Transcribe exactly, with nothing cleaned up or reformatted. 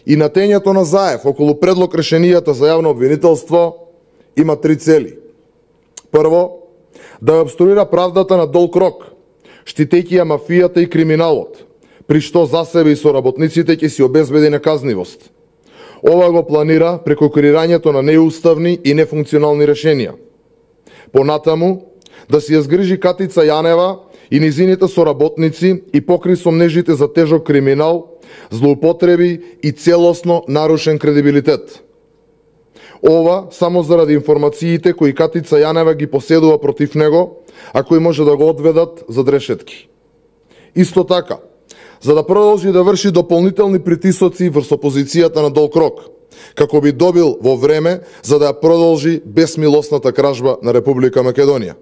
и натењето на Заев околу предлог решенијата за јавно обвинителство има три цели. Прво, да ја обструира правдата на долг рок, штитејќи ја мафијата и криминалот, при што за себе и соработниците ќе си обезбеди наказнивост. Ова го планира преку креирањето на неуставни и нефункционални решенија. Понатаму, да си ја згрижи Катица Јанева и низините соработници и покри сомнежите за тежок криминал, злоупотреби и целосно нарушен кредибилитет. Ова само заради информациите кои Катица Јанева ги поседува против него, а кои може да го одведат за решетки. Исто така, за да продолжи да врши дополнителни притисоци врз опозицијата на долг рок, како би добил во време за да ја продолжи безмилосната кражба на Република Македонија.